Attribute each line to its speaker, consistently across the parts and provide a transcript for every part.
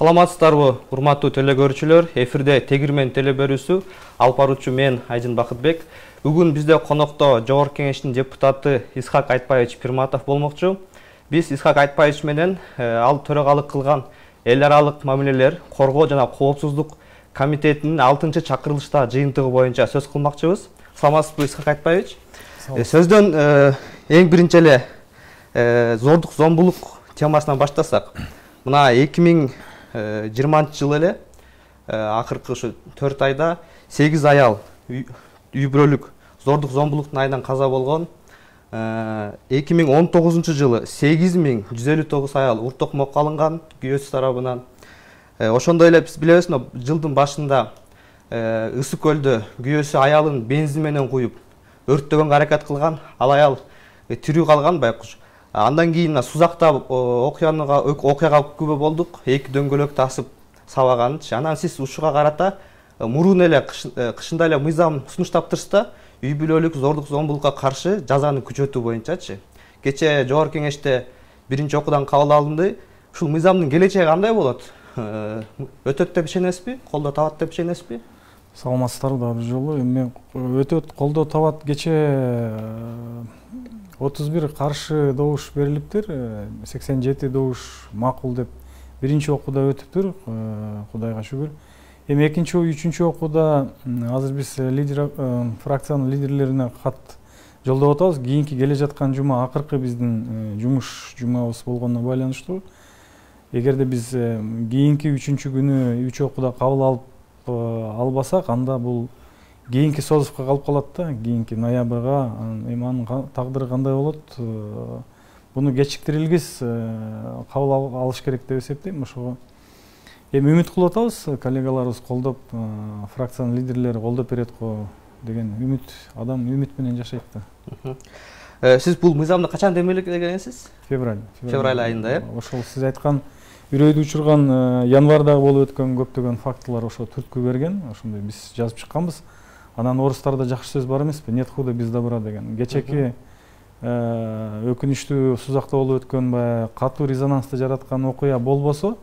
Speaker 1: Саламатсыздарбы, урматтуу телекөрүүчүлөр. Эфирде Тегирмен телеберүүсү, алып баруучу мен Айжын Бакытбек. Бүгүн бизде конокто Жогорку Кеңештин депутаты Исхак Айтбаевич Пирматов болмокчу. Биз Исхак Айтбаевич менен ал төрагалык кылган эл аралык мамилелер, коргоо жана коопсуздук комитетинин 6-чакырылышта жыйынтыгы боюнча сөз кылмакчыбыз. Саламатсызбы, Исхак Айтбаевич? Сөздөн эң биринчи эле зордук зомбулук темасынан баштасак. Мына 2020 эле акыркы ушу 4 айда 8 аял үй бүлөлүк зордук зомбулуктун айынан каза болгон. 2019 жылы 8159 аял ур токмокко алынган күйөөсү тарабынан. Ошондой эле биз билебиз, жылдын башында Ысык көлдө күйөөсү аялын бензин менен куюп өрттөгөнгө аракет кылган. Ал аял тирүү калган байкуш. Андан кийин Сузакта окуяга күбө болдук. 2 дөңгөлөктү асып сабаганчы. Анан сиз ушуга карата мурун эле кышында эле мыйзам сунуштаптырсызда, үй бүлөлүк зордук зомбулукка каршы жазаны күчөтүү боюнчачы. Кече Жогорку Кеңеште биринчи окуудан кабыл алынды. Ушул мыйзамдын келечеги кандай болот? Өтөт деп ишенесизби? Колдоо табат деп ишенесизби?
Speaker 2: Саламатсыздарбы дагы бир жолу. Эми өтөт, колдоо табат. Кече 31 каршы добуш берилиптир, 87 добуш макул деп биринчи окууда өтүптүр, Кудайга шүгүр. Эми экинчи, үчүнчү окууда азыр биз фракциянын лидерлерине кат жолдоп атабыз. Кийинки келе жаткан жума акыркы биздин жумуш жумабыз болгонуна байланыштуу. Эгерде биз кийинки 3-күнү 3 окууда кабыл албасак, анда бул кийинки созувка калып калат да, кийинки ноябрга. Эми анын тагдыры кандай болот? Буну кечиктирилгис кабыл алыш керек деп эсептейм. Ошого эми үмүт кылып атабыз, коллегаларыбыз колдоп, фракциянын лидерлери колдоп берет го деген үмүт, адам үмүт менен жашайт да.
Speaker 1: Сиз бул мыйзамды качан демилгегенсиз?
Speaker 2: Февраль
Speaker 1: айында, э?
Speaker 2: Ошол сиз айткан үрөйдү учурган январдагы болуп өткөн көптөгөн фактылар ошо түрткү берген. Ошондой биз жазып чыкканбыз. Анан орустарда жакшы сөз бар эмеспи? Нет худа без добра деген. Кечеки өкүнүчтүү Сузакта болуп өткөн баягы катуу резонансты жараткан окуя болбосо,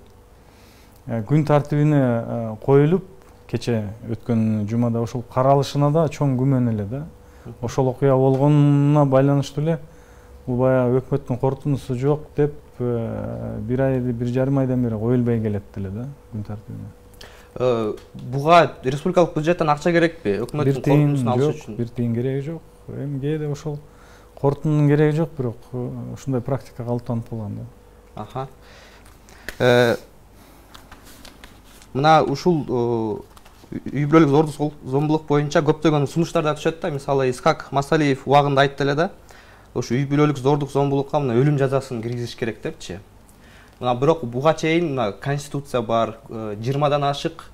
Speaker 2: күн тартибине коюлуп, кече өткөн жумада ошол каралышына да чоң күмөн эле да. Ошол окуя болгонуна байланыштуу эле бул баягы өкмөттүн корутундусу жок деп бир айды, 1,5 айдан бери коюлбай келет эле да күн тартибине.
Speaker 1: Буга республикалык бюджеттен акча керекпи? Өкмөттүн корутундусун алыш үчүн?
Speaker 2: Бир тиын кереги жок. Эми кээде ошол корутундун кереги жок, бирок ушундай практика калыптанып калган да.
Speaker 1: Мына ушул үй бүлөлүк зордук зомбулук боюнча көптөгөн сунуштар да түшөт да. Мисалы Исхак Масалиев убагында айтты эле да. Ушу үй бүлөлүк зордук зомбулукка мына өлүм жазасын киргизиш керек депчи. Мына бирок буга чейин мына конституция бар, 20дан ашык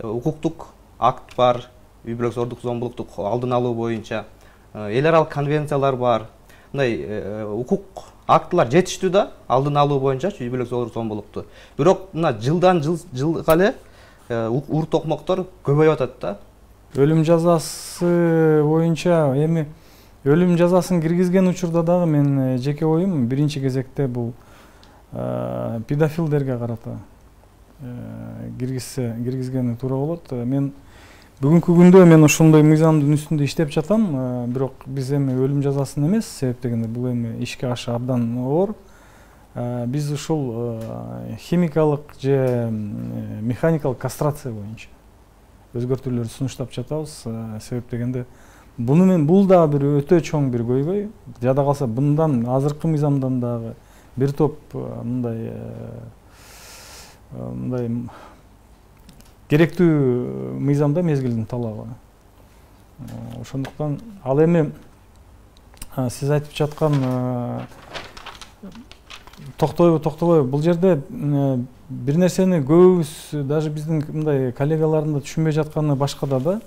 Speaker 1: укуктук акт бар, үй бүлөлүк зордук зомбулукту алдын алуу боюнча эл аралык конвенциялар бар. Мындай укук актылар жетиштүү да, алдын алуу боюнча үй бүлөлүк зордук зомбулукту. Бирок мына жылдан жылга эле ур токмоктор көбөйүп атат да.
Speaker 2: Өлүм жазасы боюнча эми өлүм жазасын киргизген учурда дагы мен жеке оюм биринчи кезекте бул педофилдерге карата киргизгени туура болот. Мен бүгүнкү күндө мен ошондой мыйзамдын үстүндө иштеп жатам, бирок биз эми өлүм жазасын эмес, себеп дегенде бул эми ишке ашы абдан оор. Биз ушул химикалык же механикалык кастрация боюнча өзгөртүүлөрдү сунуштап жатабыз. Себеп дегенде бул дагы бир өтө чоң бир көйгөй. Жада калса мындан азыркы мыйзамдан дагы бир топ мындай керектүү мыйзамда мезгилдин талабы. Ошондуктан ал эми сиз айтып жаткан токтобойбу бул жерде бир нерсени көбүбүз, даже биздин мындай коллегалардын да түшүнбөй жатканы башкада да.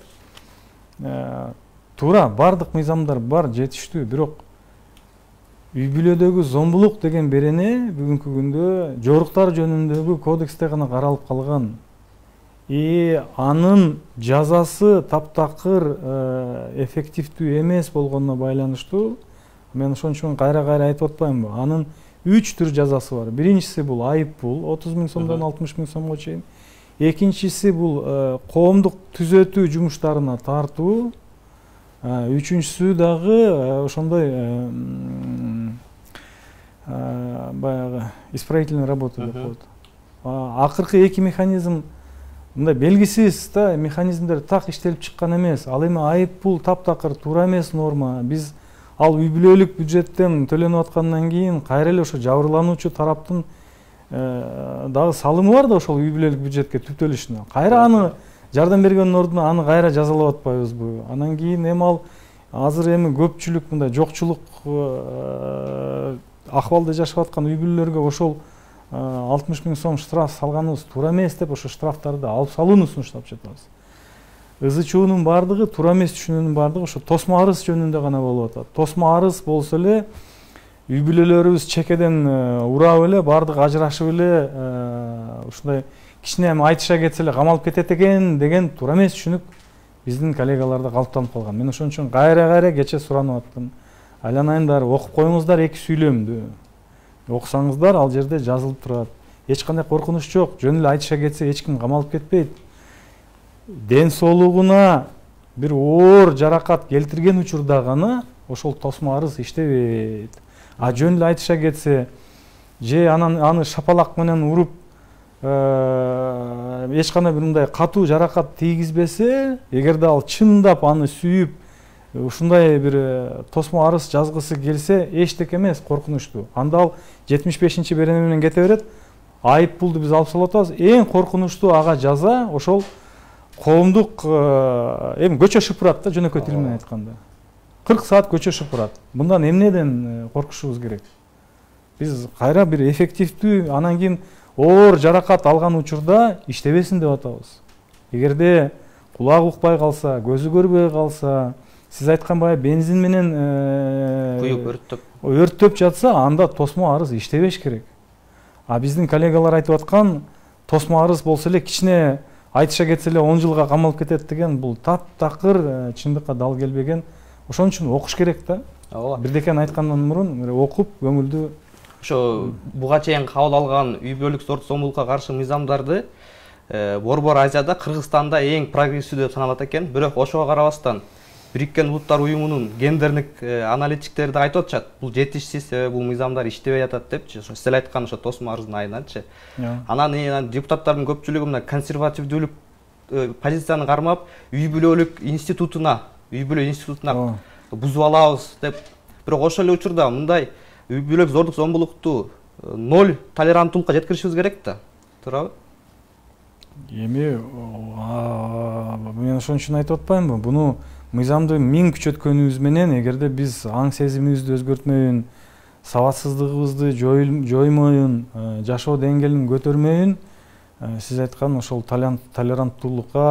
Speaker 2: Туура, бардык мыйзамдар бар, жетиштүү, бирок үй бүлөдөгү зомбулук деген берене бүгүнкү күндө жоруктар жөнүндөгү кодексте гана каралып калган. Анын жазасы таптакыр эффективдүү эмес болгонуна байланыштуу мен ошон үчүн кайра айтып атпаймынбы? Анын 3 түр жазасы бар. Биринчиси бул айып пул 30 000 сомдон 60 000 сомго чейин. Экинчиси бул коомдук түзөтүү жумуштарына тартуу. Үчүнчүсү дагы ошондой баягы исправительный работа деп коет. Акыркы эки механизм мындай белгисиз да механизмдер так иштелип чыккан эмес. Ал эми айып пул таптакыр туура эмес норма. Биз ал үй бүлөлүк бюджеттен төлөнүп аткандан кийин кайра эле ошо жабырлануучу тараптын дагы салымы бар да ошол үй бүлөлүк бюджетке түптөлүшүнө. Кайра аны жардам бергендин ордуна аны кайра жазалап атпайбызбы? Анан кийин эми ал азыр эми көпчүлүк мындай жокчулук акыбалда жашап аткан үй бүлөлөргө ошол 60 000 сом штраф салганыбыз туура эмес деп ошо штрафтарды алып салууну сунуштап жатабыз. ызычуунун баардыгы туура эмес түшүнүүнүн баардыгы ошо тосмо арыз жөнүндө гана болуп атат. Тосмо арыз болсо эле үй бүлөлөрүбүз чекеден урап эле баардыгы ажырашып эле ушундай кичине эми айтыша кетсе эле камалып кетет экен деген туура эмес түшүнүк биздин коллегаларда калыптанып калган. Мен ошон үчүн кайра кече суранып аттым. Айланайындар, окуп коюңуздар эки сүйлөмдү. Окусаңыздар ал жерде жазылып турат. Эч кандай коркунуч жок. Жөн эле айтыша кетсе эч ким камалып кетпейт. Ден соолугуна бир оор жаракат келтирген учурда гана ошол тосмо арыз иштебейт. Жөн эле айтыша кетсе же аны шапалак менен уруп эч кандай бир мындай катуу жаракат тийгизбесе, эгерде ал чындап аны сүйүп ушундай бир тосмо арыз жазгысы келсе, эчтеке эмес, коркунучтуу. Анда ал 75-чи берене менен кете берет. Айып пулду биз алып салып атабыз. Эң коркунучтуу ага жаза ошол коомдук эми көчө шыпырат да, жөнөкөй тил менен айтканда. 40 саат көчө шыпырат. Мындан эмнеден коркушубуз керек? Биз кайра бир эффективдүү, анан кийин оор жаракат алган учурда иштебесин деп атабыз. Эгерде кулагы укпай калса, көзү көрбөй калса, сиз айткан баягы бензин менен
Speaker 1: куюп
Speaker 2: өрттөп жатса, анда тосмо арыз иштебеш керек. Биздин коллегалар айтып аткан тосмо арыз болсо эле кичине айтыша кетсе эле 10 жылга камалып кетет деген бул таптакыр чындыкка дал келбеген. Ошон үчүн окуш керек да. Бирдекени айткандан мурун окуп көңүлдү
Speaker 1: ошо буга чейин кабыл алган үй бүлөлүк зордук зомбулукка каршы мыйзамдарды Борбор Азияда, Кыргызстанда эң прогрессивдүү деп саналат экен. Бирок ошого карабастан Бириккен Улуттар уюмунун гендердик аналитиктери да айтып атышат. Бул жетишсиз, бул мыйзамдар иштебей атат депчи. Ошо сиз айткан ошо тосмо арыздын айынан,чы. Анан депутаттардын көпчүлүгү мына консервативдүүлүк позицияны кармап, үй бүлөлүк институтуна бузуп алабыз деп. Бирок ошол эле учурда мындай үй бүлөлүк зордук зомбулукту 0 толеранттуулукка жеткиришибиз керек да. Туурабы?
Speaker 2: Эми мен ошон үчүн айтып атпаймынбы? Буну мыйзамды 1000 күчөткөнүбүз менен, эгерде биз аң сезимибизди өзгөртмөйүн, сабатсыздыгыбызды жоймоюн, жашоо деңгээлин көтөрмөйүн, сиз айткан ошол толеранттуулукка,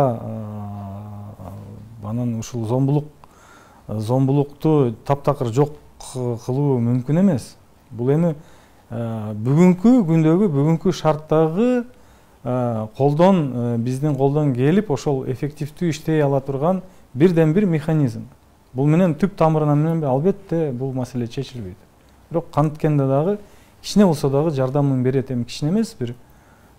Speaker 2: анан ушул зомбулукту таптакыр жок кылуу мүмкүн эмес. Бул эми бүгүнкү күндөгү, бүгүнкү шарттагы биздин колдон келип ошол эффективдүү иштей ала турган бирден бир механизм. Бул менен түп тамырынан менен албетте бул маселе чечилбейт. Бирок канткенде дагы кичине болсо дагы жардамын берет, эми кичине эмес, бир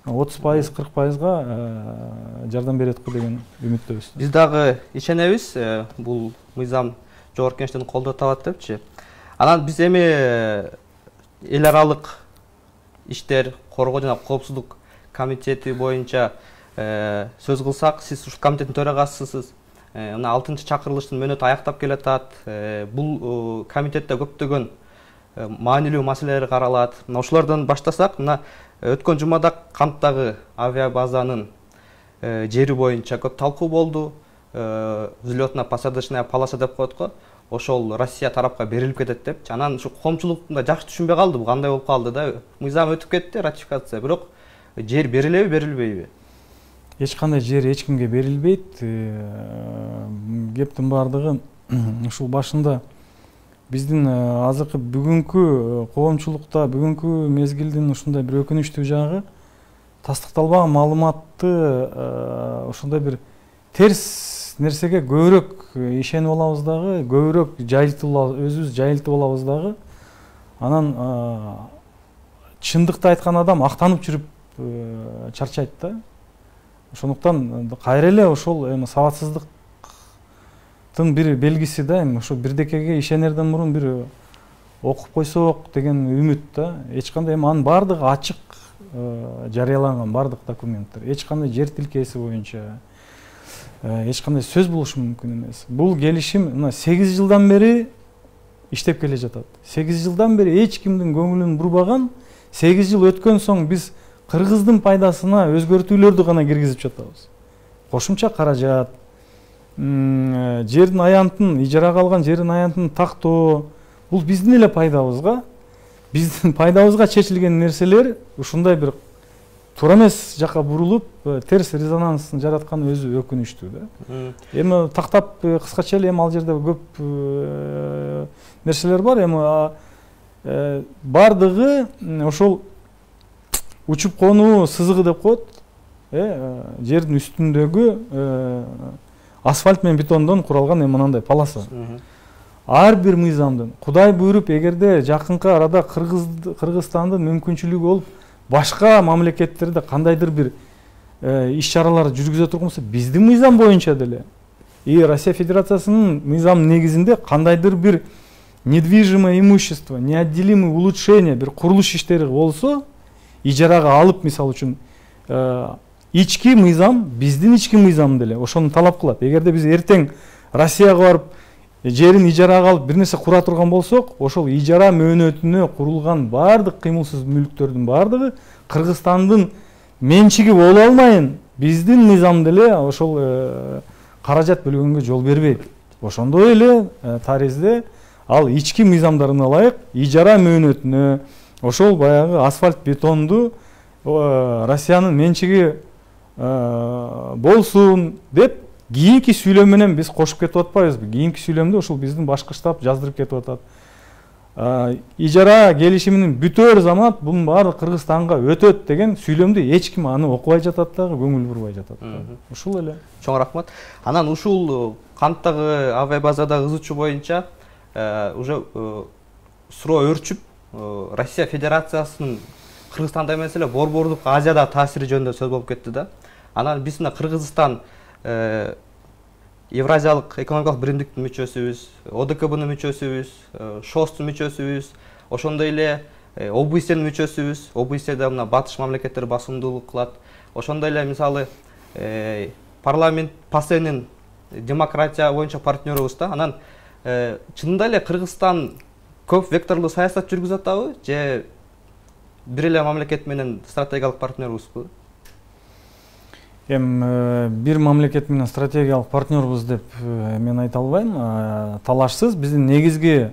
Speaker 2: 30-40%га жардам берет деген үмүттөбүз.
Speaker 1: Биз дагы ишенебиз, бул мыйзам жогорку кеңештен колдоо табат депчи. Анан биз эми эл аралык иштер, коргоо жана коопсуздук комитети боюнча сөз кылсак, сиз ушул комитеттин төрагасысыз. Мына 6-чакырылыштын мөөнөтү аяктап келатат. Бул комитетте көптөгөн маанилүү маселелер каралат. Мына ошолордон баштасак, мына өткөн жумада Канттагы авиабазанын жери боюнча көп талкуу болду. Взлётно-посадочная полоса деп коет го. Ошол Россия тарапка берилип кетет депчи. Анан ушу коомчулук жакшы түшүнбөй калды, бул кандай болуп калды да. Мыйзам өтүп кетти, ратификация, бирок жер берилеби, берилбейби?
Speaker 2: Эч кандай жер эч кимге берилбейт. Кептин баардыгы ушул башында биздин азыркы бүгүнкү коомчулукта, бүгүнкү мезгилдин ушундай бир өкүнүчтүү жагы, тастыкталбаган маалыматты ошондой бир терс нерсеге көбүрөөк ишенип алабыз дагы, көбүрөөк өзүбүз жайылтып алабыз дагы. Анан чындыкты айткан адам актанып жүрүп чарчайт да. Ошондуктан кайра эле ошол эми сабатсыздыктын бир белгиси да, эми ошо бирдекеге ишенерден мурун бир окуп койсок деген үмүт да. Эч кандай эми анын баардыгы ачык жарыяланган, баардык документтер. Эч кандай жер тилкеси боюнча эч кандай сөз болушу мүмкүн эмес. Бул келишим мына 8 жылдан бери иштеп келе жатат. 8 жылдан бери эч кимдин көңүлүн бурбаган, 8 жыл өткөн соң биз кыргыздын пайдасына өзгөртүүлөрдү гана киргизип жатабыз. Кошумча каражат, жердин аянтын, ижарага алган жердин аянтын тактоо, бул биздин эле пайдабызга, биздин пайдабызга чечилген нерселер ушундай бир туура эмес жака бурулуп, терс резонансын жаратканы өзү өкүнүчтүү да. Эми тактап кыскача эле эми ал жерде көп нерселер бар. Эми бардыгы ошол учуп конуу сызыгы деп коет. Жердин үстүндөгү асфальт менен бетондон куралган мынандай полоса. Ар бир мыйзамдын Кудай буйруп, эгерде жакынкы арада Кыргызстандын мүмкүнчүлүгү болуп, башка мамлекеттерде кандайдыр бир иш-чаралар жүргүзө турган болсо, биздин мыйзам боюнча деле Россия Федерациясынын мыйзам негизинде кандайдыр бир недвижимое имущество, неотделимое улучшение, бир курулуш иштери болсо, ижарага алып, мисалы үчүн ички мыйзам, биздин ички мыйзам деле ошону талап кылат. Эгерде биз эртең Россияга барып жерин ижарага алып бир нерсе кура турган болсок, ошол ижара мөөнөтүнө курулган баардык кыймылсыз мүлктөрдүн баардыгы Кыргызстандын менчиги боло алмайын, биздин мыйзам деле ошол каражат бөлгөнгө жол бербейт. Ошондой эле таризде ал ички мыйзамдарына ылайык ижара мөөнөтүнө ошол баягы асфальт бетонду Россиянын менчиги болсун деп кийинки сүйлөм менен биз кошуп кетип атпайбызбы? Кийинки сүйлөмдө ошол биздин башкы штаб жаздырып кетип атат. Ижара келишиминин бүтөр замат бунун баары Кыргызстанга өтөт деген сүйлөмдү эч ким аны окубай жатат дагы, көңүл бурбай жатат. Ушул эле.
Speaker 1: Чоң рахмат. Анан ушул канттагы авиа базадагы ызычуу боюнча уже суроо өрчүп, Россия Федерациясынын Кыргызстанда эмес эле Борбордук Азияда таасири жөнүндө сөз болуп кетти да. Анан биз мына Кыргызстан Евразиялык экономикалык биримдиктин мүчөсүбүз, ОДКБнын мүчөсүбүз, ШОСтун мүчөсүбүз, ошондой эле ОБСЕнин мүчөсүбүз. ОБСЕде мына батыш мамлекеттер басымдуулук кылат. Ошондой эле мисалы парламент ПАСЕнин демократия боюнча партнерубуз да. Анан чынында эле Кыргызстан көп векторлуу саясат жүргүзүп атабы же бир эле мамлекет менен стратегиялык партнерубузбу?
Speaker 2: Бир мамлекет менен стратегиялык партнербуз деп мен айта албайм. Талашсыз биздин негизги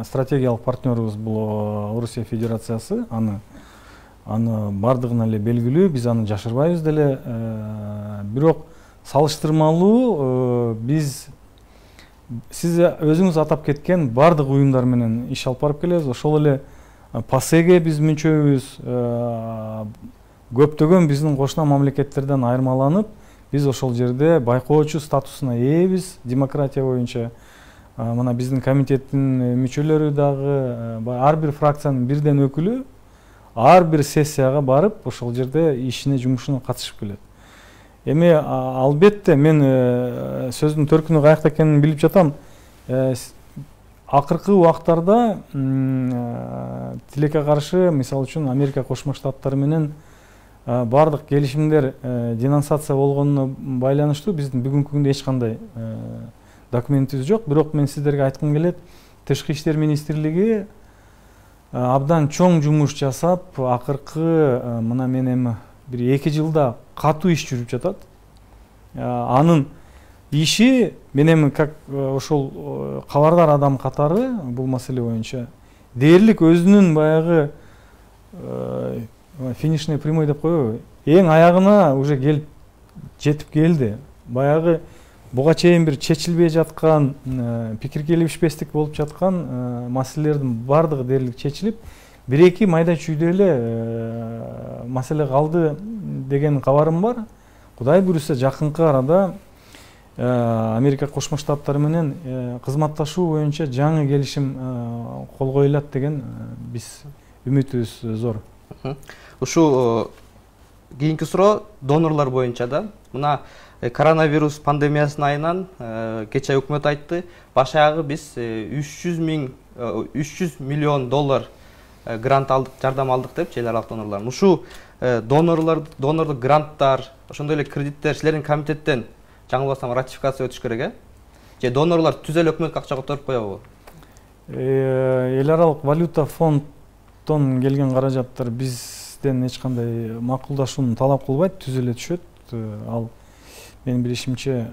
Speaker 2: стратегиялык партнербуз бул Орусия Федерациясы. Аны бардыгына эле белгилүү, биз аны жашырбайбыз деле. Бирок салыштырмалуу биз сиз өзүңүз атап кеткен бардык уюмдар менен иш алып барып келебиз. Ошол эле ПАСЕге биз мүчөбүз. Көптөгөн биздин кошуна мамлекеттерден айырмаланып, биз ошол жерде байкоочу статусуна ээбиз демократия боюнча. Мына биздин комитеттин мүчөлөрү дагы ар бир фракциянын бирден өкүлү ар бир сессияга барып, ошол жерде ишине, жумушуна катышып келет. Эми албетте мен сөздүн төркүнү каякта экенин билип жатам. Акыркы убактарда тилекке каршы, мисалы үчүн Америка Кошмо Штаттары менен бардык келишимдер денонсация болгонуна байланыштуу биздин бүгүнкү күндө эч кандай документибиз жок. Бирок мен сиздерге айткым келет, Тышкы иштер министрлиги абдан чоң жумуш жасап, акыркы мына мен эми бир 2 жылда катуу иш жүрүп жатат. Анын иши мен эми как ошол кабардар адам катары бул маселе боюнча дээрлик өзүнүн баягы финишный прямой деп коебу, эң аягына уже жетип келди. Баягы буга чейин бир чечилбей жаткан, пикир келишпестик болуп жаткан маселелердин бардыгы дээрлик чечилип, 1-2 майда чүйдө эле маселе калды деген кабарым бар. Кудай буйруса жакынкы арада Америка Кошмо Штаттары менен кызматташуу боюнча жаңы келишим кол коюлат деген биз үмүтүбүз зор.
Speaker 1: Ушул кийинки суроо донорлор боюнча да. Мына коронавирус пандемиясынын айынан кечээ өкмөт айтты, баш аягы биз 300 миллион доллар грант алдык, жардам алдык деп эл аралык донорлор. Ушул донорлук гранттар, ошондой эле кредиттер силердин комитеттен жаңылбасам ратификация өтүш керек, же донорлор түз эле өкмөткө акча которуп коебу?
Speaker 2: Эл аралык валюта фонддон келген каражаттар бизден эч кандай макулдашууну талап кылбайт, түз эле түшөт. Ал менин билишимче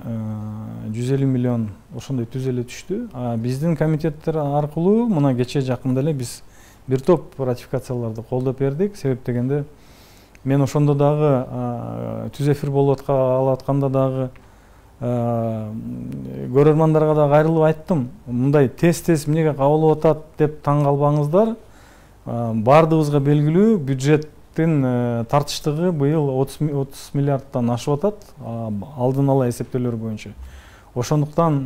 Speaker 2: 150 миллион ошондой түз эле түштү. Биздин комитеттер аркылуу мына кечээ жакында эле биз бир топ ратификацияларды колдоп бердик. Себеп дегенде мен ошондо дагы түз эфир болуп атканда дагы көрөрмандарга да кайрылып айттым. Мындай тез эмнеге кабыл атат деп таң калбаңыздар. Бардыгыбызга белгилүү бюджеттин тартыштыгы быйыл 30 миллиардтан ашып атат, алдын ала эсептөөлөр боюнча. Ошондуктан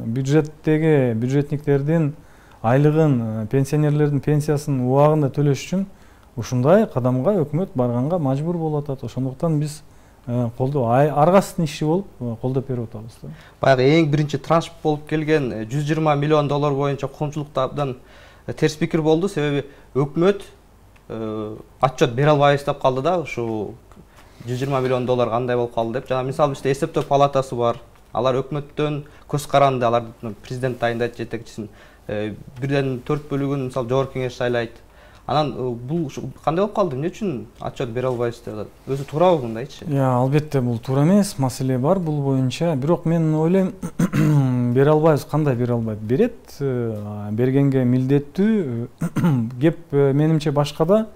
Speaker 2: бюджетниктердин айлыгын, пенсионерлердин пенсиясын убагында төлөш үчүн ушундай кадамга өкмөт барганга мажбур болуп атат. Ошондуктан биз аргасыздын иши болуп колдоп берип атабыз.
Speaker 1: Баягы эң биринчи транш болуп келген 120 миллион доллар боюнча коомчулукта абдан терс пикир болду. Себеби өкмөт отчет бере албайбыз деп калды да, ушу 120 миллион доллар кандай болуп калды деп. Жана мисалы бизде эсептөө палатасы бар. Алар өкмөттөн көз каранды, алар президент тайындайт, жетекчисин. 1/4 бөлүгүн мисалы жогорку кеңеш шайлайт. Анан бул кандай болуп калды? Эмне үчүн отчет бере албайбыз деп атат? Өзү туурабы мындайчы?
Speaker 2: Албетте бул туура эмес, маселе бар бул боюнча. Бирок мен ойлойм, бере албайбыз. Кандай бере албайт? Берет, бергенге милдеттүү. Кеп менимче башкада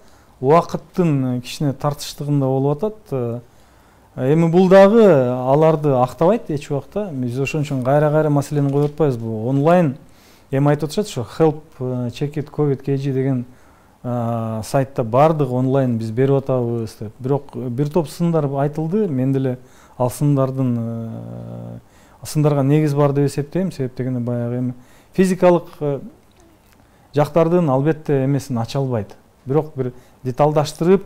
Speaker 2: убакыттын кичине тартыштыгында болуп атат. Эми бул дагы аларды актабайт эч убакта. Биз ошон үчүн кайра маселени коюп атпайбыз. Бул онлайн эми айтып атышат, ошо help check it covid kg деген сайтта бардык онлайн биз берип атабыз деп. Бирок бир топ сындар айтылды. Мен деле ал сындарга негиз бар деп эсептейм. Себеп дегенде баягы эми физикалык жактардын албетте эмесин ача албайт. Бирок бир деталдаштырып,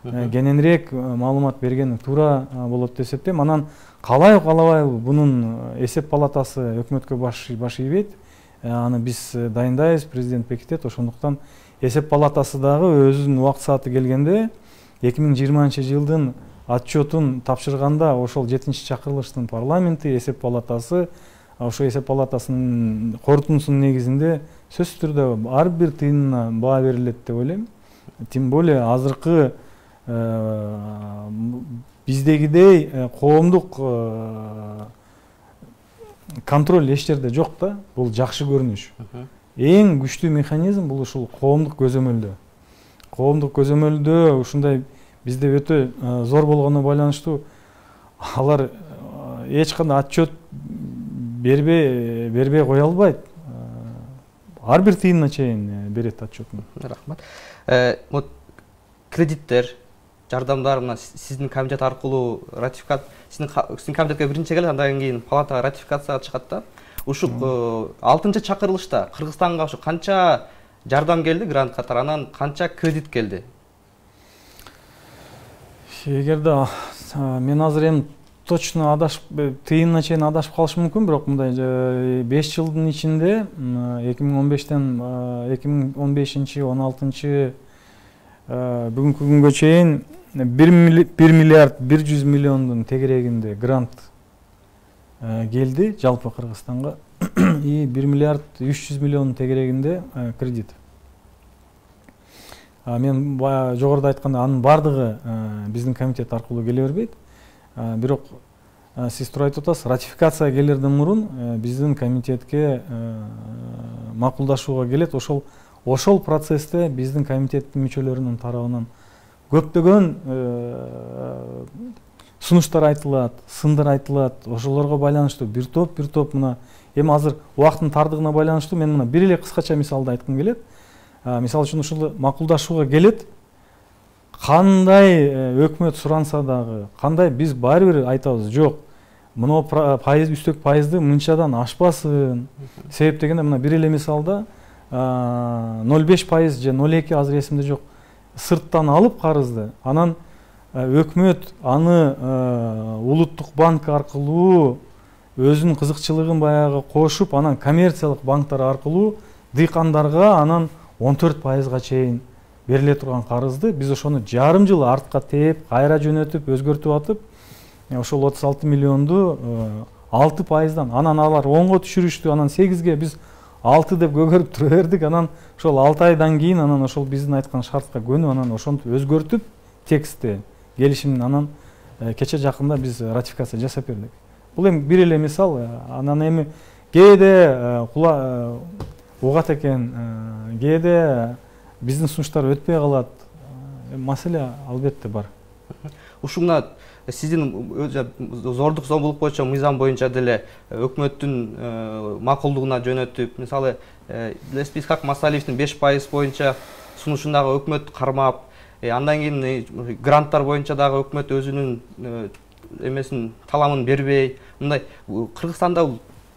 Speaker 2: кененирээк маалымат берген туура болот деп эсептейм. Анан калайбы бунун эсеп палатасы өкмөткө баш ийбейт. Аны биз дайындайбыз, президент бекитет. Ошондуктан эсеп палатасы дагы өзүнүн убакыт сааты келгенде 2020-жылдын отчетун тапшырганда ошол 7-чакырылыштын парламенти эсеп палатасы ошо эсеп палатасынын корутундусунун негизинде сөзсүз түрдө ар бир тыйынына баа берилет деп ойлойм. Тем более азыркы биздегидей коомдук контроль эч жерде жок да. Бул жакшы көрүнүш. Эң күчтүү механизм бул ушул коомдук көзөмөлдөө. Коомдук көзөмөлдөө ушундай бизде өтө зор болгону байланыштуу алар эч кандай отчет бербей кое албайт. Ар бир тыйынына чейин берет отчетун.
Speaker 1: Рахмат. Кредиттер, жардамдар мына сиздин комитет аркылуу сиздин комитетке биринчи келет, андан кийин палатага ратификацияга чыгат да. Ушул 6-чакырылышта Кыргызстанга ушу канча жардам келди грант катары, анан канча кредит келди?
Speaker 2: Эгерде мен азыр эми точно тыйынына чейин адашып калышым мүмкүн, бирок мындай 5 жылдын ичинде 2015-тен 2015-16 бүгүнкү күнгө чейин 1 миллиард 100 миллиондун тегерегинде грант келди жалпы Кыргызстанга и 1 миллиард 300 миллиондун тегерегинде кредит. Мен жогоруда айтканда анын бардыгы биздин комитет аркылуу келе бербейт. Бирок сиз туура айтып атасыз, ратификация келерден мурун биздин комитетке макулдашууга келет. Ошол процессте биздин комитеттин мүчөлөрүнүн тарабынан көптөгөн сунуштар айтылат, сындар айтылат. Ошолорго байланыштуу бир топ мына эми азыр убакыттын тардыгына байланыштуу мен мына бир эле кыскача мисалды айткым келет. Мисалы үчүн ушул макулдашууга келет. Кандай өкмөт суранса дагы, кандай биз баары бир айтабыз, жок. Мына пайыз үстөк пайызды мынчадан ашпасын. Себеп дегенде мына бир эле мисалда 0,5% же 0,2 азыр эсимде жок. сырттан алып карызды, анан өкмөт аны улуттук банк аркылуу өзүнүн кызыкчылыгын баягы кошуп, анан коммерциялык банктар аркылуу дыйкандарга анан 14%га чейин бериле турган карызды биз ошону жарым жыл артка тээп, кайра жөнөтүп, өзгөртүп атып, ошол 36 миллионду 6%дан, анан алар 10го түшүрүштү, анан 8ге биз 6 деп көгөрүп тура бердик. Анан ошол 6 айдан кийин анан ошол биздин айткан шартка көнүп, анан ошонтип өзгөртүп текстти келишимдин, анан кече жакында биз ратификация жасап бердик. Бул эми бир эле мисал. Анан эми кээде угат экен, кээде биздин сунуштар өтпөй калат. Маселе албетте бар.
Speaker 1: Ушуңа сиздин зордук зомбулук боюнча мыйзам боюнча деле өкмөттүн макулдугуна жөнөтүп, мисалы билесизби, Исхак Масалиевдин 5% боюнча сунушундагы өкмөт кармап, андан кийин гранттар боюнча дагы өкмөт өзүнүн эмесин таламын бербей, мындай Кыргызстанда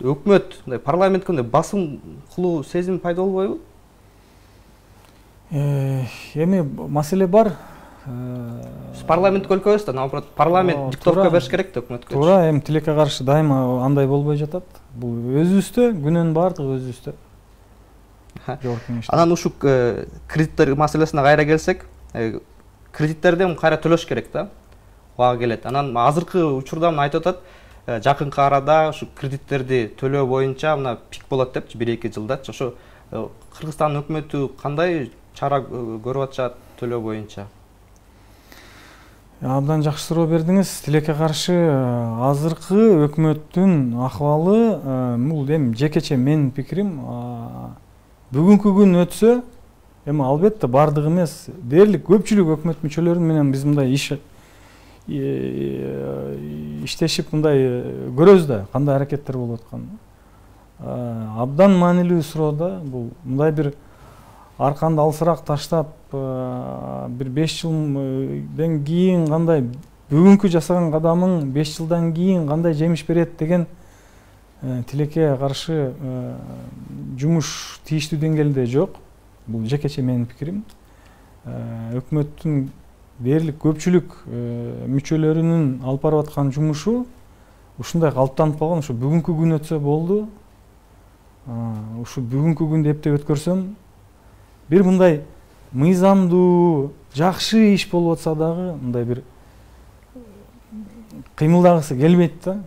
Speaker 1: өкмөт парламентке басым кылуу сезим пайда болбойбу?
Speaker 2: Эми маселе бар.
Speaker 1: Парламентке өлкөбүз да, наоборот, парламент диктовка бериш керек да өкмөткө.
Speaker 2: Туура, эми тилекке каршы дайыма андай болбой жатат. Бул өзүбүздө, күнөөнүн баардыгы өзүбүздө.
Speaker 1: Анан ушу кредиттер маселесине кайра келсек, кредиттерди кайра төлөш керек да. Убагы келет. Анан азыркы учурда айтып атат, жакынкы арада ушу кредиттерди төлөө боюнча мына пик болот депчи, 1-2 жылда. Ошо Кыргызстан өкмөтү кандай чара көрүп атышат төлөө боюнча?
Speaker 2: Абдан жакшы суроо бердиңиз. Тилекке каршы азыркы өкмөттүн акыбалы, бул эми жекече менин пикирим, бүгүнкү күн өтсө, эми албетте бардыгы эмес, дээрлик көпчүлүк өкмөт мүчөлөрү менен биз мындай иштешип мындай көрөбүз да, кандай аракеттер болуп атканын. Абдан маанилүү суроо да, бул мындай бир арканды алсыраак таштап, бир 5 жылдан кийин кандай бүгүнкү жасаган кадамың 5 жылдан кийин кандай жемиш берет деген тилекке каршы жумуш тийиштүү деңгээлде жок. Бул жекече менин пикирим. Өкмөттүн дээрлик көпчүлүк мүчөлөрүнүн алып барып аткан жумушу ушундай калыптанып калган. Ушу бүгүнкү күн өтсө болду. Ушу бүгүнкү күндү эптеп өткөрсөм, бир мындай мыйзамдуу, жакшы иш болуп атса дагы, мындай бир кыймылдагысы келбейт да.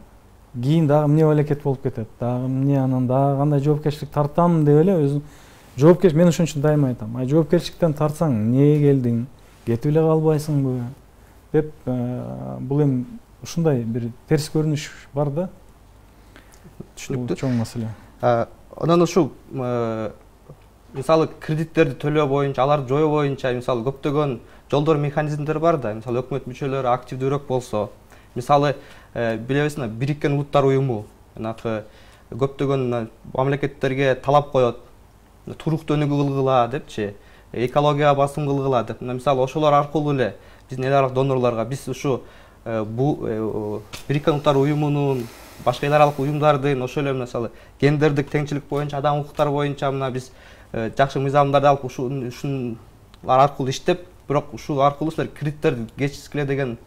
Speaker 2: Кийин дагы эмне балекет болуп кетет, дагы эмне, анан дагы кандай жоопкерчилик тартам деп эле өзүм жоопкерчилик, мен ошон үчүн дайыма айтам. Жоопкерчиликтен тартсаң, эмнеге келдиң, кетип эле калбайсыңбы деп, бул эми ушундай бир терс көрүнүш бар да. Түшүнүктүү. Чоң маселе.
Speaker 1: Анан ушу мисалы кредиттерди төлөө боюнча, аларды жоюу боюнча мисалы көптөгөн жолдор, механизмдер бар да. Мисалы өкмөт мүчөлөрү активдүүрөөк болсо, мисалы билебизби, Бириккен Улуттар уюму көптөгөн мамлекеттерге талап коет, туруктуу өнүгүү кылгыла депчи, экологияга басым кылгыла деп. Мисалы ошолор аркылуу эле биздин эл аралык донорлорго биз ушу Бириккен Улуттар уюмунун, башка эл аралык уюмдардын, ошол эле мисалы гендердик теңчилик боюнча, адам укуктары боюнча мына биз жакшы мыйзамдарды алып ушулар аркылуу иштеп, бирок ушул аркылуу силер кредиттерди кечискиле деген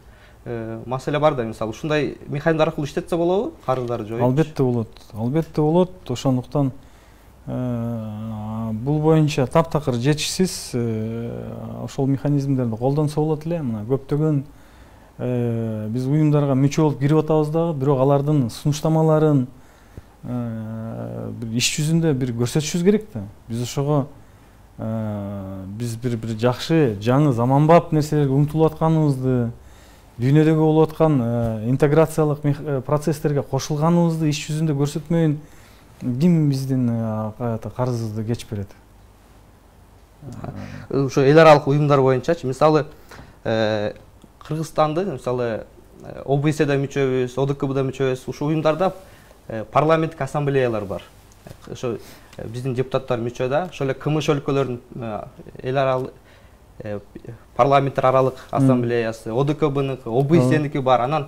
Speaker 1: маселе бар да. Мисалы ушундай механизмдер аркылуу иштетсе болобу, карыздарды жоюп?
Speaker 2: Албетте болот. Албетте болот. Ошондуктан бул боюнча таптакыр жетишсиз ошол механизмдерди колдонсо болот эле. Мына көптөгөн биз уюмдарга мүчө болуп кирип атабыз дагы, бирок алардын сунуштамаларын бир иш жүзүндө бир көрсөтүшүбүз керек да. Биз ошого биз бир жакшы, жаңы, заманбап нерселерге умтулуп атканыбызды, дүйнөдөгү болуп аткан интеграциялык процесстерге кошулганыбызды иш жүзүндө көрсөтмөйүн ким биздин карызыбызды кечип берет?
Speaker 1: Ошо эл аралык уюмдар боюнчачы, мисалы Кыргызстанды, мисалы ОБСЕда мүчөбүз, ОДКБда мүчөбүз, ушул уюмдарда парламенттик ассамблеялар бар. Ошо биздин депутаттар мүчө да, ошол эле КМШ өлкөлөрдүн эл аралык парламенттер аралык ассамблеясы, ОДКБныкы, ОБСЕники бар. Анан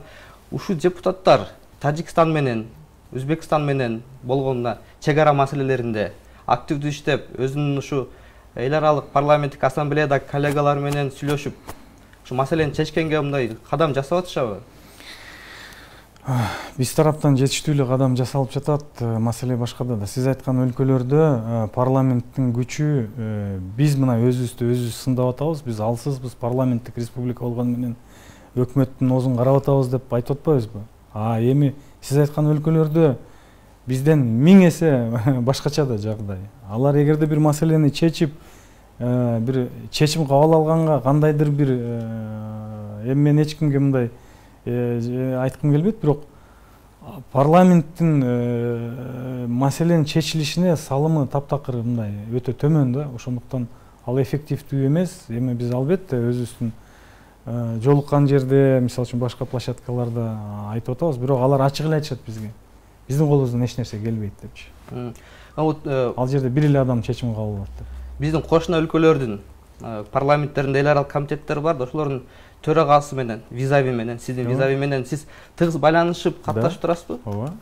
Speaker 1: ушул депутаттар Тажикстан менен, Өзбекстан менен болгон чек ара маселелеринде активдүү иштеп, өзүнүн ушу эл аралык парламенттик ассамблеядагы коллегалар менен сүйлөшүп ушу маселени чечкенге мындай кадам жасап атышабы?
Speaker 2: Биз тараптан жетиштүү эле кадам жасалып жатат. Маселе башкада да. Сиз айткан өлкөлөрдө парламенттин күчү биз мына өзүбүздү сындап атабыз. Биз алсызбыз, парламенттик республика болгону менен өкмөттүн оозун карап атабыз деп айтып атпайбызбы? Эми сиз айткан өлкөлөрдө бизден 1000 эсе башкача да жагдай. Алар эгерде бир маселени чечип, бир чечим кабыл алганга кандайдыр бир эми мен эч кимге мындай айткым келбейт, бирок парламенттин маселенин чечилишине салымы таптакыр мындай өтө төмөн да. Ошондуктан ал эффективдүү эмес. Эми биз албетте өзүбүздүн жолуккан жерде, мисалы үчүн башка площадкаларда айтып атабыз, бирок алар ачык эле айтышат бизге. Биздин колубуздан эч нерсе келбейт депчи. Ал жерде бир эле адам чечим кабыл алат деп.
Speaker 1: Биздин кошуна өлкөлөрдүн парламенттеринде эл аралык комитеттер бар да, ошолордун төрагасы менен, визави менен, сиздин визави менен сиз тыгыз байланышып катташып турасызбы?
Speaker 2: Ооба.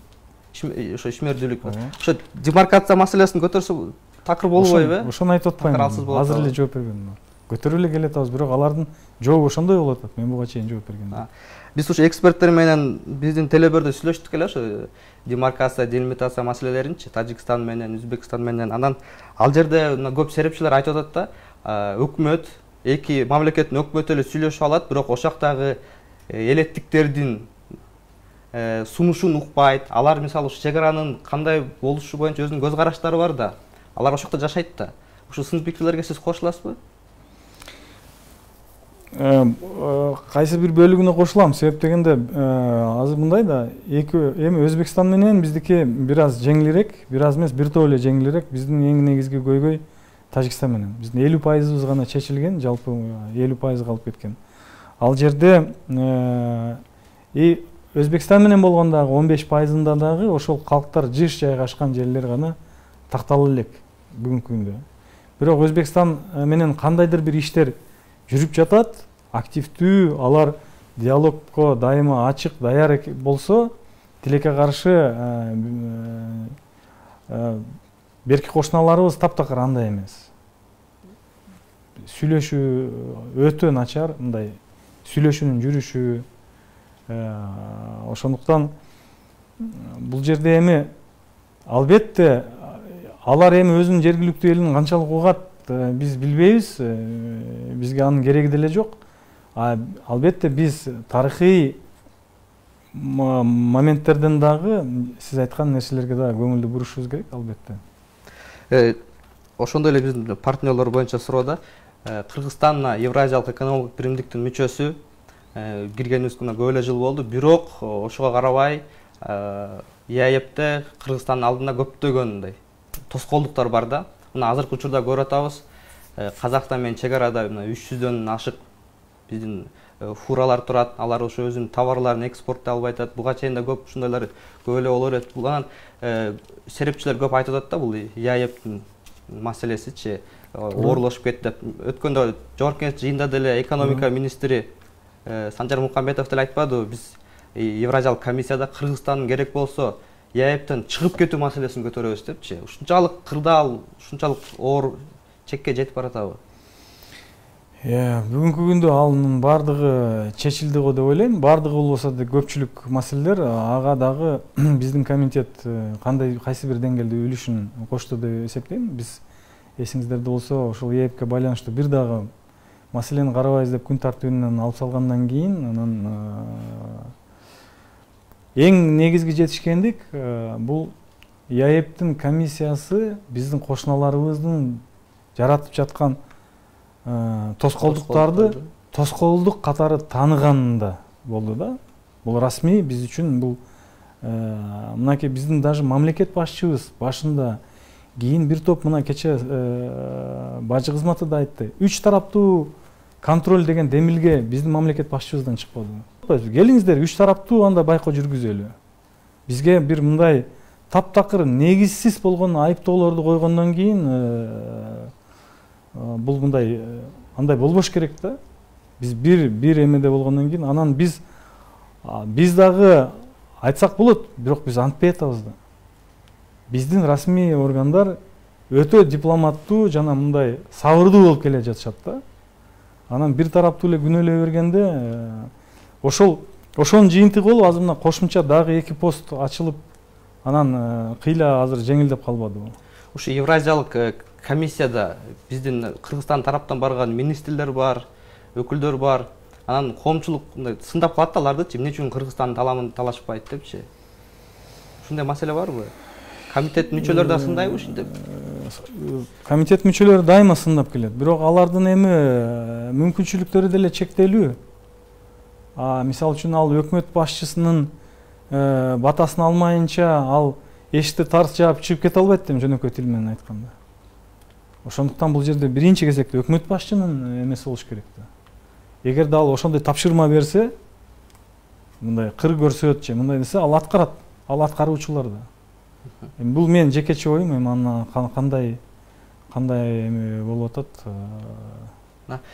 Speaker 1: Ошо ишмердүүлүк. Ошо демаркация маселесин көтөрсө такыр болбойбу?
Speaker 2: Ошону айтып атпаймынбы? Азыр эле жооп бергенмин. Көтөрүп эле келатабыз, бирок алардын жообу ошондой болуп атат. Мен буга чейин жооп бергенмин.
Speaker 1: Биз ушу эксперттер менен биздин телебөрдө сүйлөштүк эле ошо демаркация, делимитация маселелеринчи Тажикстан менен, Өзбекстан менен. Анан ал жерде көп серепчилер айтып атат да, өкмөт, эки мамлекеттин өкмөтү эле сүйлөшүп алат, бирок ошол жактагы элеттиктердин сунушун укпайт. Алар мисалы ушу чек аранын кандай болушу боюнча өзүнүн көз караштары бар да. Алар ошол жакта жашайт да. Ушу сын пикирлерге сиз кошуласызбы?
Speaker 2: Кайсы бир бөлүгүнө кошулам. Себеп дегенде азыр мындай да, эми Өзбекстан менен биздики бир аз жеңилирээк, бир аз эмес, бир топ эле жеңилирээк. Биздин эң негизги көйгөй Тажикстан менен. Биздин 50% гана чечилген, жалпы 50% калып кеткен. Ал жерде Өзбекстан менен болгондагы 15%-ында дагы ошол калктар жыш жайгашкан жерлер гана тактала элек бүгүнкү күндө. Бирок Өзбекстан менен кандайдыр бир иштер жүрүп жатат, активдүү, алар диалогко дайыма ачык, даяр болсо, тилекке каршы берки кошуналарыбыз таптакыр андай эмес. Сүйлөшүү өтө начар, мындай сүйлөшүүнүн жүрүшү. Ошондуктан бул жерде эми албетте алар эми өзүнүн жергиликтүү элин канчалык угат биз билбейбиз. Бизге анын кереги деле жок. Албетте биз тарыхый моменттерден дагы сиз айткан нерселерге дагы көңүлдү бурушубуз керек, албетте.
Speaker 1: Ошондой эле биздин партнерлор боюнча суроо. Кыргызстан Евразиялык экономикалык биримдиктин мүчөсү, киргенибизге көп эле жыл болду. Бирок ошого карабай ЕАЭПте Кыргызстандын алдында көптөгөн тоскоолдуктар бар да. Мына азыркы учурда көрүп атабыз, Казакстан менен чек арада 300дөн ашык биздин фуралар турат. Алар ошо өзүнүн товарларын экспорттой албай атат. Буга чейин да көп ушундайлар көп эле боло берет. Булан серепчилер көп айтып атат да, бул ЕАЭПтин маселесичи оорлошуп кетти деп. Өткөндө жогорку кеңеш жыйында деле экономика министри Санжар Мукамбетов деле айтпадыбы, биз Евразиялык комиссияда Кыргызстандын керек болсо ЕАЭПтен чыгып кетүү маселесин көтөрөбүз депчи. Ушунчалык кырдаал, ушунчалык оор чекке жетип баратабы?
Speaker 2: Бүгүнкү күндө анын бардыгы чечилди го деп ойлойм. Бардыгы болбосо да көпчүлүк маселелер, ага дагы биздин комитет кайсы бир деңгээлде үлүшүн кошту деп эсептейм. Биз эсиңиздерде болсо ошол ЕАЭПке байланыштуу бир дагы маселени карабайбыз деп күн тартибинен алып салгандан кийин анан эң негизги жетишкендик бул ЕАЭПтин комиссиясы биздин кошуналарыбыздын жаратып жаткан тоскоолдуктарды тоскоолдук катары тааныганында болду да. Бул расмий биз үчүн бул мынакей биздин даже мамлекет башчыбыз башында кийин бир топ мына кече бажы кызматы да айтты. 3 тараптуу контроль деген демилге биздин мамлекет башчыбыздан чыкпады. Келиңиздер 3 тараптуу анда байкоо жүргүзөлү. Бизге бир мындай таптакыр негизсиз болгон айыптоолорду койгондон кийин бул мындай андай болбош керек да. Биз бир эмеде болгондон кийин анан биз дагы айтсак болот, бирок биз антпай атабыз да. Биздин расмий органдар өтө дипломаттуу жана мындай сабырдуу болуп келе жатышат да. Анан бир тараптуу эле күнөөлөй бергенде ошонун жыйынтыгы болуп азыр мына кошумча дагы 2 пост ачылып, анан кыйла азыр жеңилдеп калбадыбы?
Speaker 1: Ушу Евразиялык комиссияда биздин Кыргызстан тараптан барган министрлер бар, өкүлдөр бар. Анан коомчулук сындап калат да алардычы, эмне үчүн Кыргызстан таламын талашпайт депчи. Ушундай маселе барбы? Комитет мүчөлөрү да сындайбы ушинтип?
Speaker 2: Комитет мүчөлөрү дайыма сындап келет. Бирок алардын эми мүмкүнчүлүктөрү деле чектелүү. Мисалы үчүн ал өкмөт башчысынын батасын алмайынча ал эшикти тарс жаап чыгып кете албайт дейм, жөнөкөй тил менен айтканда. Ошондуктан бул жерде биринчи кезекте өкмөт башчынын эмеси болуш керек да. Эгерде ал ошондой тапшырма берсе, мындай кыр көрсөт же мындай десе, ал аткарат. Ал аткаруучулар да. Бул менин жекече оюм, эми андан кандай эми болуп атат.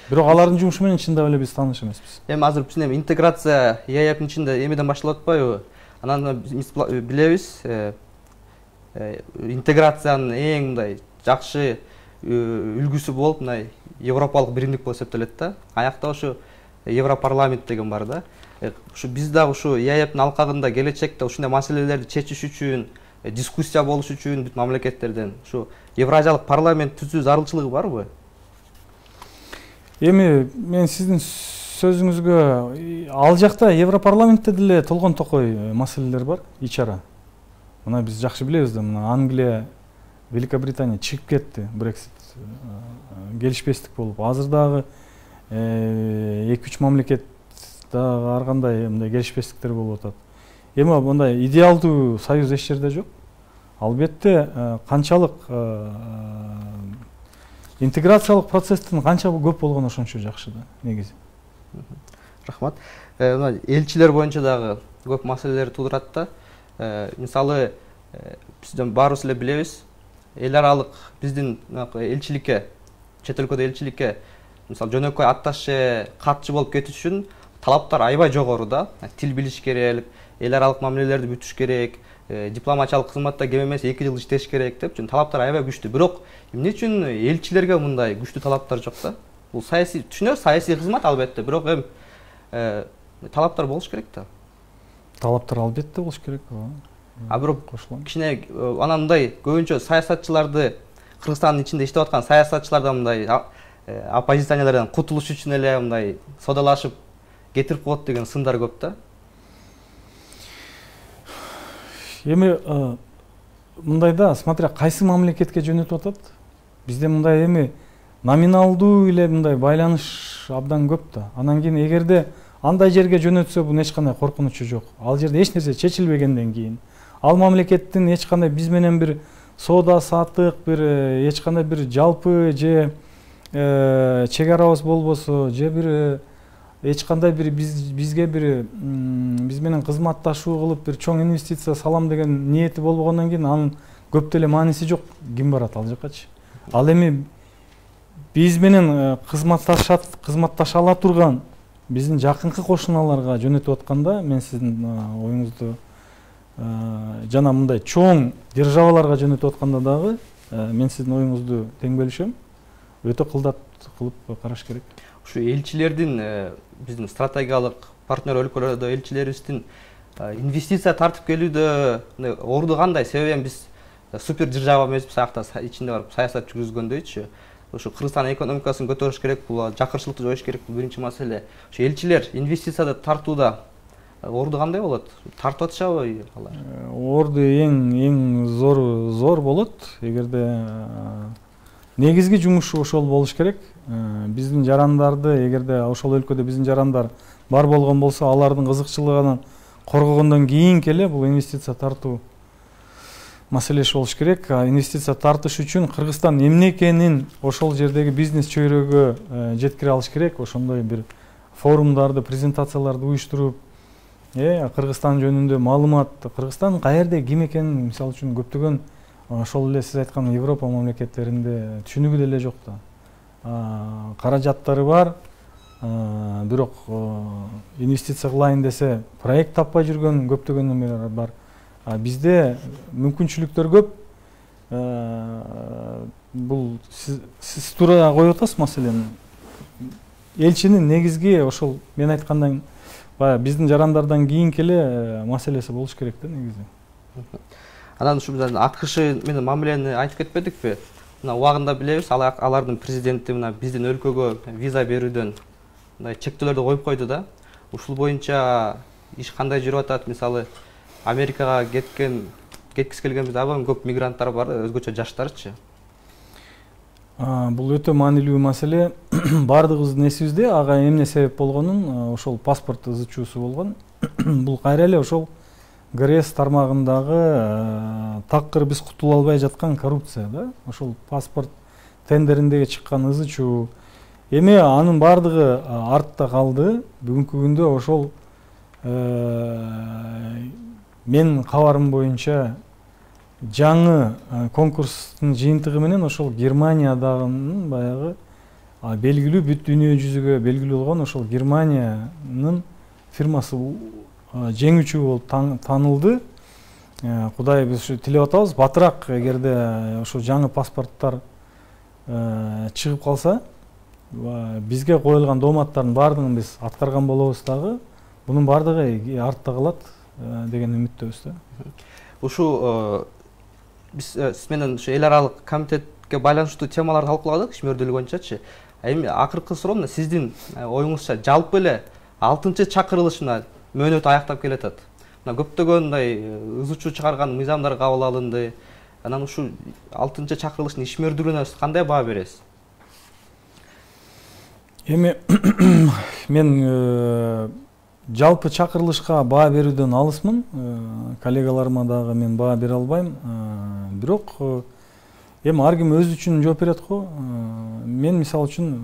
Speaker 2: Бирок алардын жумушу менен чындап эле биз тааныш эмеспиз.
Speaker 1: Эми азыр биз интеграция ЕАЭПтин ичинде эмеден башталып атпайбы? Анан биз билебиз, интеграциянын эң мындай жакшы үлгүсү болуп мындай Европалык биримдик болуп эсептелет да. Аякта ушу Европарламент деген бар да. Ушу биз дагы ушу ЕАЭПтин алкагында келечекте ушундай маселелерди чечиш үчүн, дискуссия болуш үчүн бүт мамлекеттерден ушу Евразиялык парламент түзүү зарылчылыгы барбы?
Speaker 2: Эми мен сиздин сөзүңүзгө, ал жакта Европарламентте деле толгон токой маселелер бар, ичара. Мына биз жакшы билебиз да, мына Англия, Великобритания чыгып кетти, Брексит келишпестик болуп. Азыр дагы 2-3 мамлекет дагы ар кандай мындай келишпестиктер болуп атат. Эми мындай идеалдуу союз эч жерде жок. Албетте канчалык интеграциялык процесстин канча көп болгону ошончо жакшы да, негизи.
Speaker 1: Рахмат. Элчилер боюнча дагы көп маселелер туудурат да. Мисалы, бизден баарыбыз эле билебиз, эл аралык биздин элчиликке, чет өлкөдө элчиликке, мисалы жөнөкөй атташе, катчы болуп кетиш үчүн талаптар аябай жогору да. Тил билиш керек, эл аралык мамилелерди бүтүш керек, дипломатиялык кызматта кем эмес 2 жыл иштеш керек деп, талаптар аябай күчтүү. Бирок эмне үчүн элчилерге мындай күчтүү талаптар жок да? Бул саясий, түшүнөбүз, саясий кызмат албетте, бирок талаптар болуш керек да.
Speaker 2: Талаптар албетте болуш керек.
Speaker 1: Бирок кичине анан мындай көбүнчө саясатчыларды, Кыргызстандын ичинде иштеп аткан саясатчылардан мындай оппозиционерлерден кутулуш үчүн эле мындай содалашып кетирип коет деген сындар көп да.
Speaker 2: Эми мындай да, смотря кайсы мамлекетке жөнөтүп атат. Бизде мындай эми номиналдуу эле мындай байланыш абдан көп да. Анан кийин эгерде андай жерге жөнөтсө, бул эч кандай коркунучу жок. Ал жерде эч нерсе чечилбегенден кийин, ал мамлекеттин эч кандай биз менен бир соода саттык, бир эч кандай бир жалпы же чек арабыз болбосо, же бир эч кандай бир бизге бир биз менен кызматташуу кылып бир чоң инвестиция салам деген ниети болбогондон кийин анын көп деле мааниси жок. Ким барат ал жаккачы? Ал эми биз менен кызматташа ала турган биздин жакынкы кошуналарга жөнөтүп атканда, мен сиздин оюңузду жана мындай чоң державаларга жөнөтүп атканда дагы мен сиздин оюңузду тең бөлүшөм. Өтө кылдат кылып караш керек.
Speaker 1: Ушу элчилердин, биздин стратегиялык партнер өлкөлөрдө элчилерибиздин инвестиция тартып келүүдө орду кандай? Себеби биз супер держава эмеспиз, аякта ичинде барып саясат жүргүзгөндөйчү. Ушу Кыргызстан экономикасын көтөрүш керек, бул жакырчылыкты жоюш керек, бул биринчи маселе. Ушу элчилер инвестицияды тартууда орду кандай болот? Тартып атышабы алар?
Speaker 2: Орду эң зор болот. Эгерде негизги жумушу ошол болуш керек. Биздин жарандарды, эгерде ошол өлкөдө биздин жарандар бар болгон болсо, алардын кызыкчылыгын коргогондон кийин келе бул инвестиция тартуу маселеси болуш керек. Инвестиция тартыш үчүн Кыргызстан эмне экенин ошол жердеги бизнес чөйрөгө жеткире алыш керек. Ошондой бир форумдарды, презентацияларды уюштуруп, Кыргызстан жөнүндө маалымат, Кыргызстан каерде, ким экенин, мисалы үчүн көптөгөн ошол эле сиз айткан Европа мамлекеттеринде түшүнүгү деле жок да. Каражаттары бар, бирок инвестиция кылайын десе проект таппай жүргөн көптөгөн немелер бар. Бизде мүмкүнчүлүктөр көп. бул сиз туура коюп атасыз маселени. Элчинин негизги ошол мен айткандай баягы биздин жарандардан кийинки эле маселеси болуш керек да негизи.
Speaker 1: Анан ушу АКШ менен мамилени айтып кетпедикпи? Мына убагында билебиз, алардын президенти мына биздин өлкөгө виза берүүдөн мындай чектөөлөрдү коюп койду да. Ушул боюнча иш кандай жүрүп атат? Мисалы, Америкага кеткиси келген бизде аба көп мигранттар бар, өзгөчө жаштарчы.
Speaker 2: Бул өтө маанилүү маселе. Бардыгыбыздын эсибизде ага эмне себеп болгонун, ошол паспорт ызы чуусу болгон. Бул кайра эле ошол ГРС тармагындагы такыр биз кутула албай жаткан коррупция да. Ошол паспорт тендериндеги чыккан ызы чуу. Эми анын бардыгы артта калды. Бүгүнкү күндө ошол мен кабарым боюнча жаңы конкурстун жыйынтыгы менен ошол Германиядагы баягы белгилүү бүт дүйнө жүзүгө белгилүү болгон ошол Германиянын фирмасы жеңүүчү болуп таанылды. Кудай биз ушу тилеп атабыз, батыраак эгерде ошо жаңы паспорттор чыгып калса, бизге коюлган дооматтардын баардыгын биз аткарган болобуз дагы. Бунун баардыгы артта калат деген үмүттөбүз да.
Speaker 1: Ушу биз сиз менен ушу эл аралык комитетке байланыштуу темаларды талкууладык ишмердүүлүк боюнчачы. Эми акыркы суроо мына сиздин оюңузча жалпы эле 6-чакырылыш мына мөөнөтү аяктап келатат. Мына көптөгөн мындай ызы чуу чыгарган мыйзамдар кабыл алынды. Анан ушу 6-чакырылыштын ишмердүүлүгүнө кандай баа бересиз?
Speaker 2: Эми мен жалпы чакырылышка баа берүүдөн алысмын. Коллегаларыма дагы мен баа бере албайм. Бирок эми ар ким өзү үчүн жооп берет го. Мен мисалы үчүн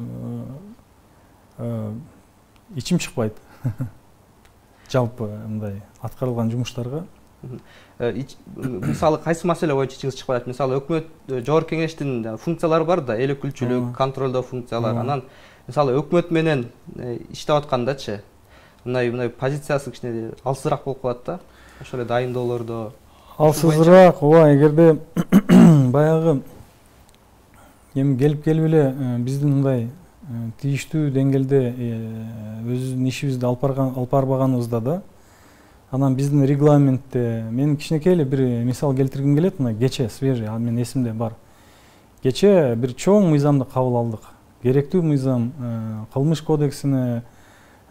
Speaker 2: ичим чыкпайт. Жалпы мындай аткарылган жумуштарга. Мисалы кайсы маселе боюнча ичиңиз чыкпайт? Мисалы өкмөт жогорку кеңештин функциялары бар да, эл өкүлчүлүк, контролдоо функциялары. Анан мисалы өкмөт менен иштеп аткандачы мындай позициясы кичине алсызыраак болуп калат да. Ошол эле дайындоолордо. Алсызыраак, ооба, эгерде баягы эми келип эле биздин мындай тийиштүү деңгээлде өзүбүздүн ишибизди алып барбаганыбызда да, анан биздин регламентте мен кичинекей эле бир мисал келтиргим келет. Мына кечээ свежий, менин эсимде бар. Кечээ бир чоң мыйзамды кабыл алдык. Керектүү мыйзам, кылмыш кодексине,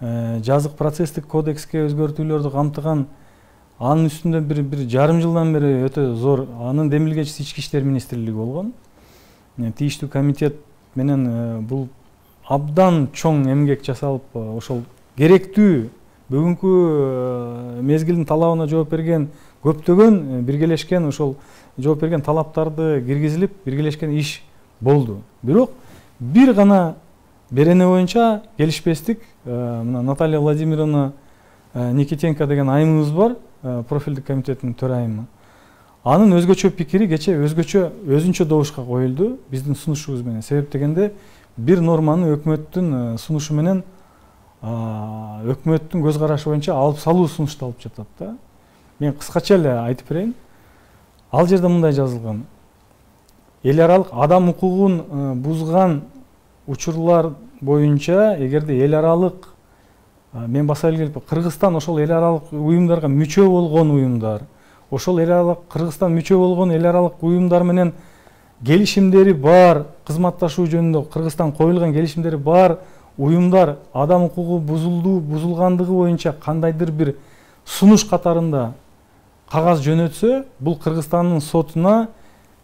Speaker 2: жазык процесстик кодекске өзгөртүүлөрдү камтыган. Анын үстүндө бир жарым жылдан бери өтө зор анын демилгечиси Ички иштер министрлиги болгон. Тийиштүү комитет менен бул абдан чоң эмгек жасалып, ошол керектүү бүгүнкү мезгилдин талабына жооп берген көптөгөн биргелешкен ошол жооп берген талаптарды киргизилип, биргелешкен иш болду. Бирок бир гана берене боюнча келишпестик. Мына Наталья Владимировна Никитенко деген айымыбыз бар, профилдик комитеттин төрайымы. Анын өзгөчө пикири кечээ өзүнчө добушка коюлду биздин сунушубуз менен. Себеп дегенде бир норманы өкмөттүн сунушу менен өкмөттүн көз карашы боюнча алып салуу сунушталып жатат да. Мен кыскача эле айтып берейин. Ал жерде мындай жазылган: эл аралык адам укугун бузган учурлар боюнча эгерде эл аралык мен баса эле келип Кыргызстан ошол эл аралык уюмдарга мүчө болгон уюмдар, ошол эл аралык Кыргызстан мүчө болгон эл аралык уюмдар менен келишимдери бар, кызматташуу жөнүндө Кыргызстан коюлган келишимдери бар уюмдар адам укугу бузулгандыгы боюнча кандайдыр бир сунуш катарында кагаз жөнөтсө, бул Кыргызстандын сотуна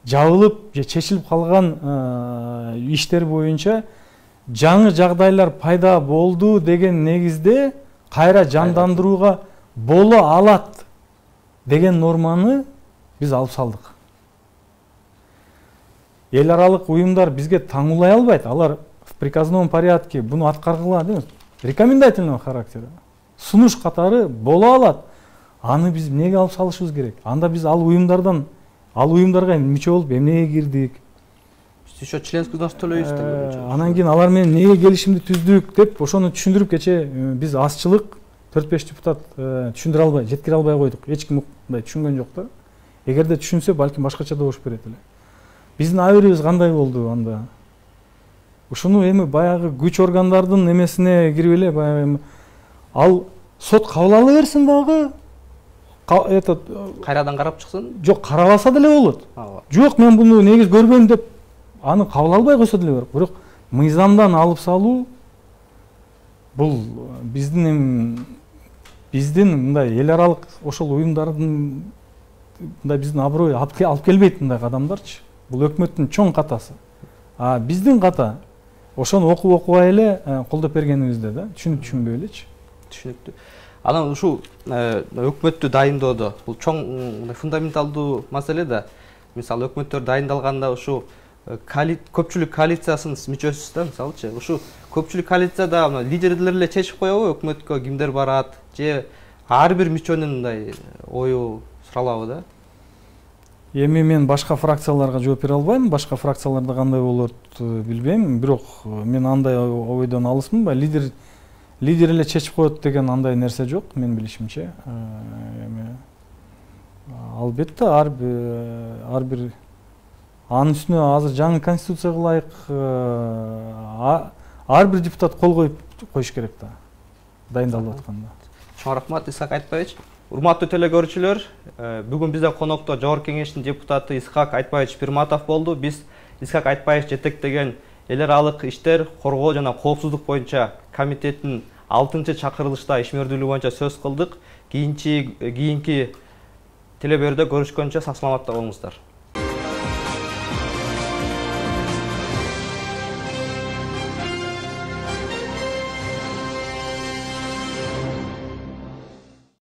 Speaker 2: жабылып же чечилип калган иштер боюнча жаңы жагдайлар пайда болду деген негизде кайра жандандырууга боло алат деген норманы биз алып салдык. Эл аралык уюмдар бизге таңуулай албайт. Алар в приказном порядке буну аткаргыла дейм, рекомендательного характера сунуш катары боло алат. Аны биз эмнеге алып салышыбыз керек? Анда биз ал уюмдарга мүчө болуп эмнеге кирдик?
Speaker 1: Еще членский взнос төлөйбүз.
Speaker 2: Анан кийин алар менен эмнеге келишимди түздүк деп ошону түшүндүрүп кечээ биз азчылык 4-5 депутат түшүндүрө албай, жеткире албай койдук. Эч ким мындай түшүнгөн жок да. Эгерде түшүнсө, балким башкача добуш берет эле. биздин абийирибиз кандай болду анда? Ушуну эми баягы күч органдардын эмесине кирип эле баягы ал сот кабыл ала берсин дагы, этот
Speaker 1: кайрадан карап чыксын.
Speaker 2: жок, карабаса деле болот.
Speaker 1: Ооба.
Speaker 2: Жок, мен буну негиз көрбөйм деп аны кабыл албай койсо деле болот. Бирок мыйзамдан алып салуу бул биздин мындай эл аралык ошол уюмдардын мындай биздин аброй алып келбейт мындай кадамдарчы. Бул өкмөттүн чоң катасы. А биздин ката ошону окубай эле колдоп бергенибизде да, түшүнбөй элечи.
Speaker 1: Түшүнүктүү. Анан ушул өкмөттү дайындоодо бул чоң фундаменталдуу маселе да. Мисалы өкмөттөр дайындалганда ушу көпчүлүк коалициясынын мүчөсүсүз да, мисалычы. Ушу көпчүлүк коалицияда лидерлер эле чечип коебу өкмөткө кимдер барат, же ар бир мүчөнүн мындай ою суралабы да.
Speaker 2: Эми мен башка фракцияларга жооп бере албайм, башка фракцияларда кандай болот билбейм, бирок мен андай ойдон алысмын, лидер эле чечип коет деген андай нерсе жок, мен билишимче. Эми албетте ар бир анын үстүнө азыр жаңы конституцияга ылайык ар бир депутат кол коюш керек да, дайындалып атканда.
Speaker 1: Чоң рахмат, Исхак Айтбаевич. Урматтуу телекөрүүчүлөр, бүгүн бизде конокто Жогорку Кеңештин депутаты Исхак Айтбаевич Пирматов болду. Биз Исхак Айтбаевич жетектеген эл аралык иштер коргоо жана коопсуздук боюнча комитеттин 6-чакырылышта ишмердүүлүгү боюнча сөз кылдык. Кийинки телеберүүдө көрүшкөнчө сак саламатта болуңуздар.